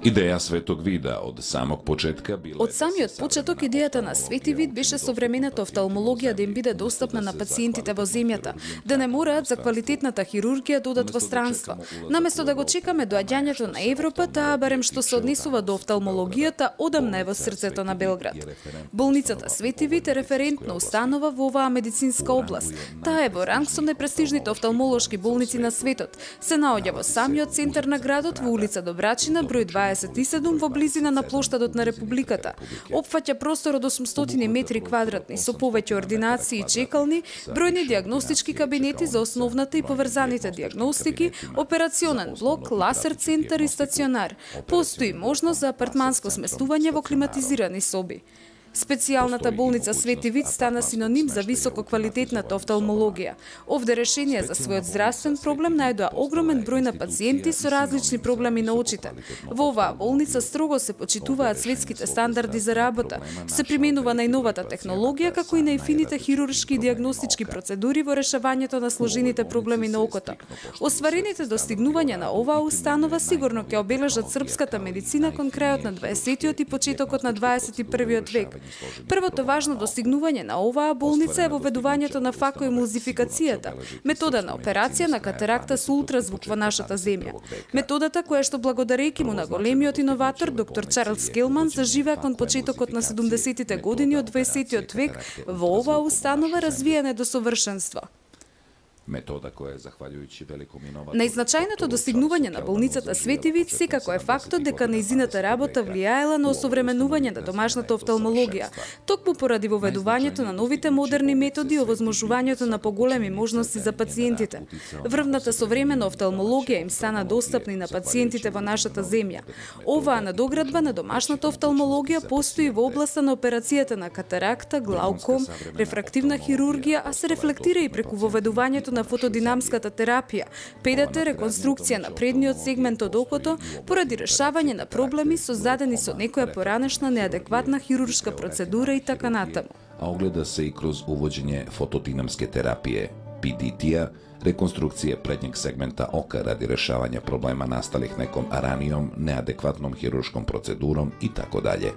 Идеја Светог Вида од самог почетка била... Од самиот почеток идејата на Свети Вид беше современата офталмологија да им биде достапна на пациентите во земјата, да не мораат за квалитетната хирургија да одат во странство. Наместо да го чекаме доаѓањето на Европа, таа барем што се однесува до офталмологијата одамна е во срцето на Белград. Болницата Свети Вид е референтна установа во оваа медицинска област. Таа е во ранг со најпрестижните офталмолошки болници на светот. Се наоѓа во самиот центар на градот во улица Добрачина, број 27 во близина на плоштадот на Републиката. Опфаќа простор од 800 метри квадратни со повеќе ординации и чекални, бројни дијагностички кабинети за основната и поврзаните дијагностики, операционен блок, ласер центар и стационар. Постои можност за апартманско сместување во климатизирани соби. Специјалната болница Свети Вид стана синоним за висококвалитетната офталмологија. Овде решение за својот здравствен проблем најдоа огромен број на пациенти со различни проблеми на очите. Во оваа болница строго се почитуваат светските стандарди за работа, се применува најновата технологија како и најфините хируршки и дијагностички процедури во решавањето на сложените проблеми на окото. Остварените достигнувања на оваа установа сигурно ќе обележат српската медицина кон крајот на 20-тиот и почетокот на 21-виот век. Првото важно достигнување на оваа болница е воведувањето на факоемулзификацијата, метода на операција на катаракта со ултразвук во нашата земја. Методата која што благодарејќи му на големиот иноватор доктор Чарлс Келман заживеа кон почетокот на 70-тите години од 20-тиот век во оваа установа развиена до совршенство. Метода која захвалјујќи великом иноватору. Најзначајното достигнување на болницата Свети Вид секако е фактот дека нејзината работа влијаела на осовременување на домашната офталмологија, токму поради воведувањето на новите модерни методи и овозможувањето на поголеми можности за пациентите. Врвната современа офталмологија им стана достапни на пациентите во нашата земја. Оваа надоградба на домашната офталмологија постои во областа на операцијата на катаракта, глауком, рефрактивна хирургија, а се рефлектира и преку воведувањето на фотодинамската терапија, ПДТ, реконструкција на предниот сегмент од окото, поради решавање на проблеми создадени со некоја поранешна неадекватна хируршка процедура и така натаму. А огледа се и кроз увоđење фотодинамске терапија, PDT-а, реконструкција предњег сегмента ока ради решавање проблема насталих неком ранијом, неадекватном хируршком процедуром и така дале.